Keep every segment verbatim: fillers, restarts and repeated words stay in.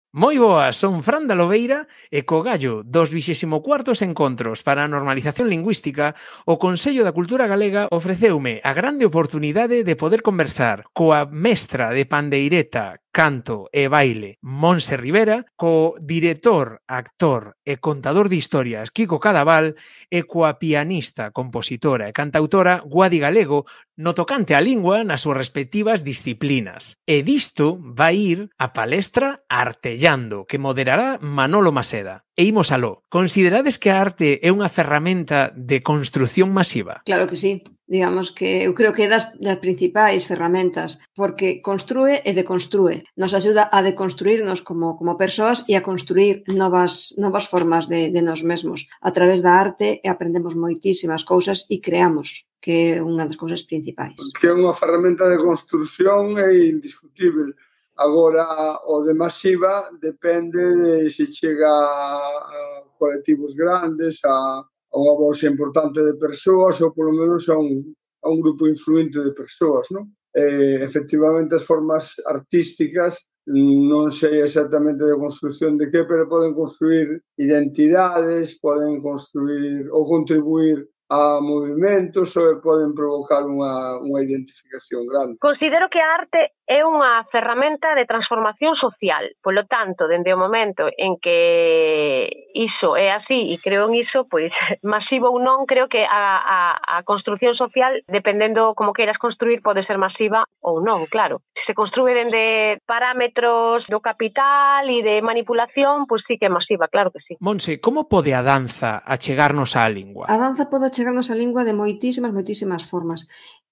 Moi boas, son Fran da Lobeira e co gallo dos vixésimo cuartos encontros para a normalización lingüística, o Consello da Cultura Galega ofreceume a grande oportunidade de poder conversar coa mestra de pandeireta, canto e baile Monse Rivera, co director, actor e contador de historias Kiko Cadaval e coa pianista, compositora e cantautora Guadi Galego no tocante á lingua nas súas respectivas disciplinas. E disto vai ir a palestra Artellando, que moderará Manolo Maseda. E imos aló. Considerades que a arte é unha ferramenta de construción masiva? Claro que sí. Digamos que eu creo que é das, das principais ferramentas, porque construe e deconstrue. Nos axuda a deconstruirnos como, como persoas e a construir novas, novas formas de, de nos mesmos. A través da arte aprendemos moitísimas cousas e creamos, que é unha das cousas principais. Que é unha ferramenta de construción é indiscutible. Agora, o de masiva depende de se chega a colectivos grandes, a, a unha bolsa importante de persoas ou polo menos a un, a un grupo influente de persoas, non? Eh, efectivamente, as formas artísticas non sei exactamente de construción de que, pero poden construir identidades, poden construir ou contribuir a movimentos ou poden provocar unha, unha identificación grande. Considero que a arte é unha ferramenta de transformación social. Polo tanto, dende o momento en que iso é así e creo en iso, pois masivo ou non, creo que a, a, a construción social, dependendo como queiras construir, pode ser masiva ou non, claro. Se construe dende parámetros do capital e de manipulación, pois sí que é masiva, claro que sí. Monse, como pode a danza achegarnos á lingua? A danza pode achegarnos á lingua de moitísimas, moitísimas formas.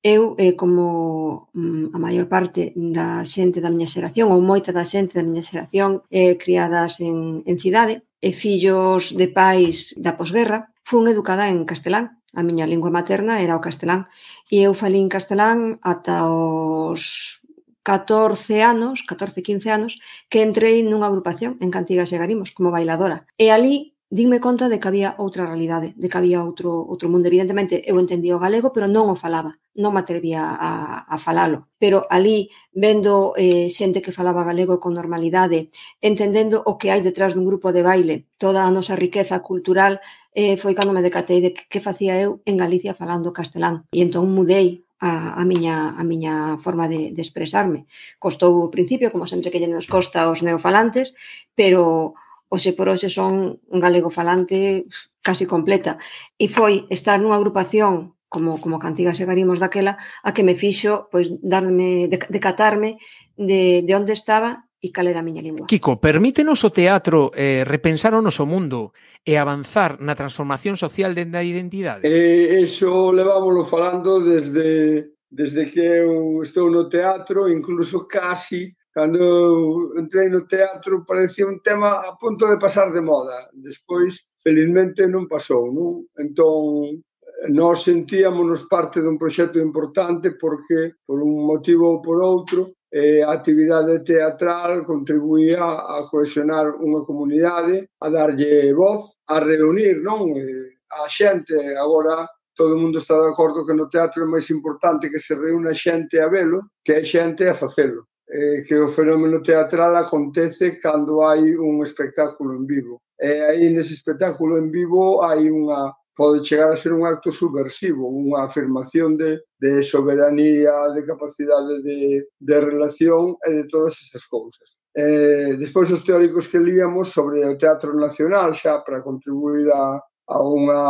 Eu, eh, como mm, a maior parte da xente da miña xeración, ou moita da xente da miña xeración, eh, criadas en, en cidade, e fillos de pais da posguerra, fun educada en castelán. A miña lingua materna era o castelán. E eu falín castelán ata os catorce anos, catorce, quince anos, que entrei nunha agrupación en Cantigas e Garimos, como bailadora. E ali dinme conta de que había outra realidade, de que había outro, outro mundo. Evidentemente, eu entendía o galego, pero non o falaba, non me atrevía a, a falalo. Pero ali, vendo eh, xente que falaba galego con normalidade, entendendo o que hai detrás dun grupo de baile, toda a nosa riqueza cultural, eh, foi cando me decatei de que, que facía eu en Galicia falando castelán. E entón mudei a, a, miña, a miña forma de, de expresarme. Costou o principio, como sempre que lle nos costa aos neofalantes, pero hoxe por hoxe son un galego falante casi completa. E foi estar nunha agrupación como, como Cantigas e Garimos daquela a que me fixo pois, darme, decatarme de, de onde estaba e cal era a miña lingua. Kiko, permítenos o teatro eh, repensar o noso mundo e avanzar na transformación social dende a identidade? Eh, eso levámoslo falando desde, desde que eu estou no teatro, incluso casi cando eu entrei no teatro parecía un tema a punto de pasar de moda. Despois, felizmente, non pasou, non? Entón, nós sentíamos parte dun proxecto importante porque, por un motivo ou por outro, eh, a actividade teatral contribuía a cohesionar unha comunidade, a darlle voz, a reunir, non? Eh, a xente. Agora, todo o mundo está de acordo que no teatro é máis importante que se reúna xente a velo que a xente a facelo. Eh, que o fenómeno teatral acontece cando hai un espectáculo en vivo. E aí nese espectáculo en vivo hai unha, pode chegar a ser un acto subversivo, unha afirmación de, de soberanía, de capacidade de, de relación e de todas esas cousas. Eh, despois os teóricos que líamos sobre o teatro nacional xa para contribuir a, a unha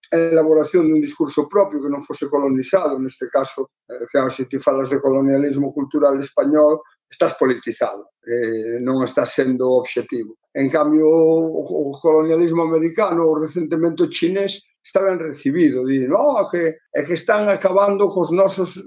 elaboración dun discurso propio que non fose colonizado, neste caso, eh, claro, se ti falas de colonialismo cultural español, estás politizado, eh, non estás sendo objetivo. En cambio, o, o colonialismo americano, ou recentemente o chinés, está ben recibido, dicen, oh, que, é que están acabando cos nosos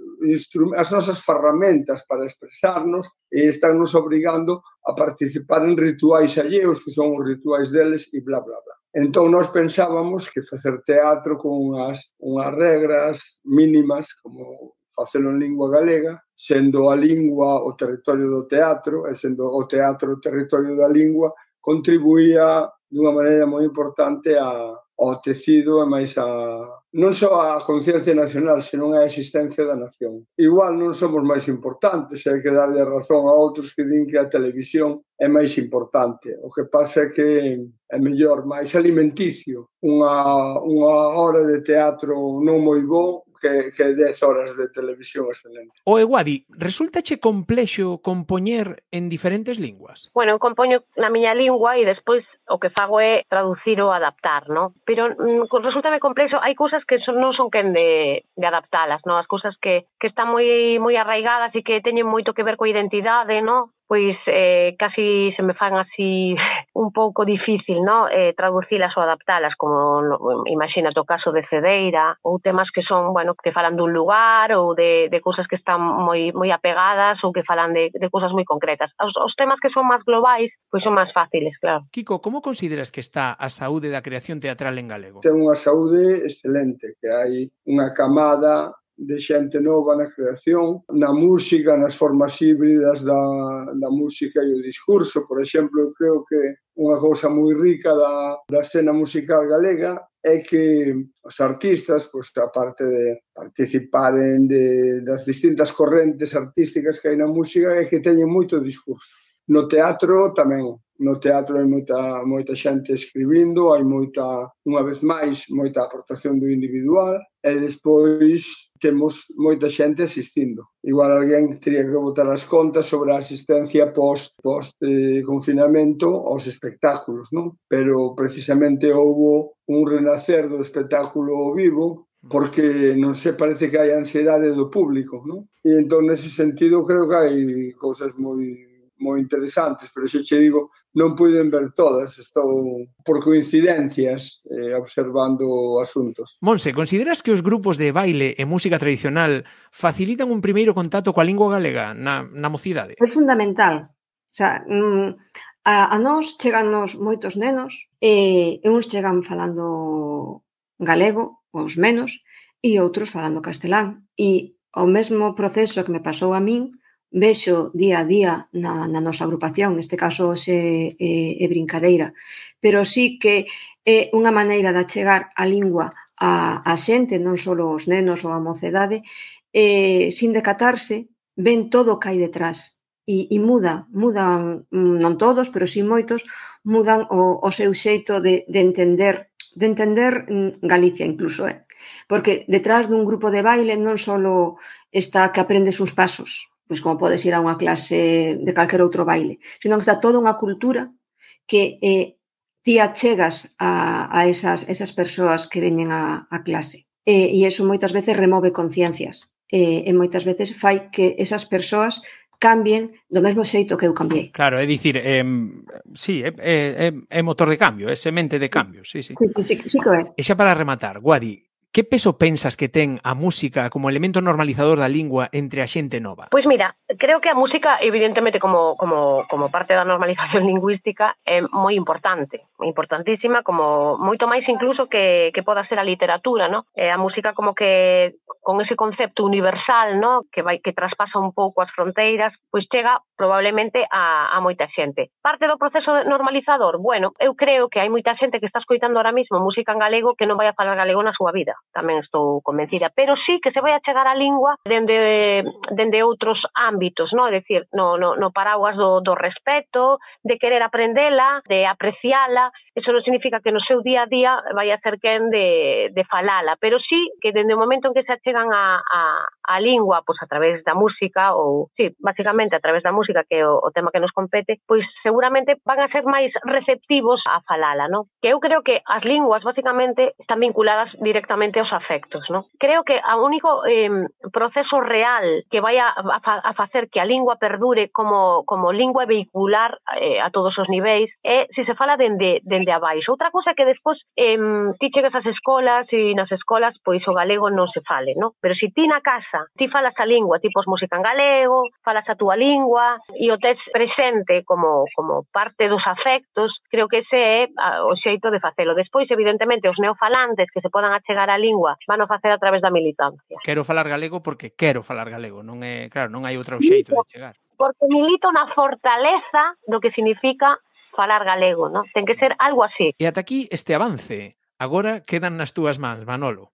as nosas ferramentas para expresarnos e están nos obrigando a participar en rituais alleos, que son os rituais deles, e bla, bla, bla. Entón, nós pensábamos que facer teatro con unhas, unhas regras mínimas, como facelo en lingua galega, sendo a lingua o territorio do teatro, e sendo o teatro o territorio da lingua, contribuía dunha maneira moi importante a, ao tecido e máis a non só a conciencia nacional, senón a existencia da nación. Igual non somos máis importantes, hai que darlle a razón a outros que din que a televisión é máis importante. O que pasa é que é mellor, máis alimenticio, unha, unha hora de teatro non moi bo que, que dez horas de televisión excelente. O Eguadi, resultache complexo compoñer en diferentes linguas? Bueno, eu compoño na miña lingua e despois o que fago é traducir ou adaptar, ¿no? Pero mm, resultame complexo, hai cousas que son, non son quen de, de adaptalas, ¿no? As cousas que, que están moi moi arraigadas e que teñen moito que ver coa identidade, ¿no? Pois eh, casi se me fan así un pouco difícil, ¿no? Eh, traducilas ou adaptalas, como no, imagínate o caso de Cedeira, ou temas que son, bueno, que falan dun lugar ou de, de cousas que están moi moi apegadas ou que falan de, de cousas moi concretas. Os, os temas que son máis globais, pois son máis fáciles, claro. Kiko, como consideras que está a saúde da creación teatral en galego? Ten unha saúde excelente, que hai unha camada de xente nova na creación, na música, nas formas híbridas da, da música e o discurso. Por exemplo, eu creo que unha cousa moi rica da, da escena musical galega é que os artistas, pois, aparte de participaren de, das distintas correntes artísticas que hai na música, é que teñen moito discurso. No teatro tamén. No teatro hai moita, moita xente escribindo, hai moita, unha vez máis, moita aportación do individual, e despois temos moita xente asistindo. Igual alguén teria que botar as contas sobre a asistencia post, post eh, confinamento aos espectáculos, non? Pero precisamente houbo un renacer do espectáculo vivo, porque non se parece que hai ansiedade do público, non? E entón, nese sentido, creo que hai cousas moi moi interesantes, pero xe che digo, non puiden ver todas, estou por coincidencias eh, observando asuntos. Monse, consideras que os grupos de baile e música tradicional facilitan un primeiro contacto coa lingua galega na, na mocidade? É fundamental. O sea, a, a nós chegannos moitos nenos e, e uns chegan falando galego, os menos, e outros falando castelán. E o mesmo proceso que me pasou a min, vexo día a día na, na nosa agrupación, neste caso xe é, é brincadeira, pero sí que é unha maneira de achegar a lingua a, a xente, non só os nenos ou a mocedade, eh, sin decatarse, ven todo o que hai detrás e, e muda, mudan, non todos, pero sí moitos, mudan o, o seu xeito de, de entender, de entender Galicia incluso, eh? Porque detrás dun grupo de baile non só está que aprendes uns pasos, pois como podes ir a unha clase de calquer outro baile, senón que está toda unha cultura que eh, ti achegas a, a esas, esas persoas que veñen a, a clase. E, e iso moitas veces remove conciencias e, e moitas veces fai que esas persoas cambien do mesmo xeito que eu cambiei. Claro, é dicir, eh, sí, é, é, é motor de cambio, é semente de cambio, sí, sí. Sí, sí, sí, sí que é. E xa para rematar, Guadi, que peso pensas que ten a música como elemento normalizador da lingua entre a xente nova? Pois mira, creo que a música, evidentemente, como, como, como parte da normalización lingüística, é moi importante, importantísima, como moito máis incluso que, que poda ser a literatura, ¿no? Eh, a música como que con ese concepto universal, ¿no? Que vai que traspasa un pouco as fronteiras, pois chega probablemente a, a moita xente. Parte do proceso normalizador, bueno, eu creo que hai moita xente que está escoitando ahora mismo música en galego que non vai a falar galego na súa vida. Tamén estou convencida, pero sí que se vai a chegar a lingua dende, dende outros ámbitos, ¿no? É dicir, no, no, no paraguas do, do respeto, de querer aprendela, de apreciala. Eso non significa que no seu día a día vai a ser quen de, de falala, pero sí que dende o momento en que se achegan a, a, a lingua, pois a través da música, ou, sí, basicamente a través da música, que é o, o tema que nos compete, pois seguramente van a ser máis receptivos a falala, ¿no? Que eu creo que as linguas, basicamente, están vinculadas directamente aos afectos, ¿no? Creo que o único eh, proceso real que vai a, a, a facer que a lingua perdure como, como lingua vehicular eh, a todos os niveis é se se fala dende, dende abaixo. Outra cosa que despois eh, ti chegas ás escolas e nas escolas pois o galego non se fale, ¿no? Pero se ti na casa ti falas a lingua, ti pos música en galego, falas a túa lingua e o tes presente como, como parte dos afectos, creo que ese é o xeito de facelo. Despois, evidentemente, os neofalantes que se podan achegar a lingua van a facer a través da militancia. Quero falar galego porque quero falar galego, non é, claro, non hai outro xeito de chegar. Porque milito na fortaleza do que significa falar galego, non? Ten que ser algo así. E ata aquí este avance. Agora quedan nas túas mans, Manolo.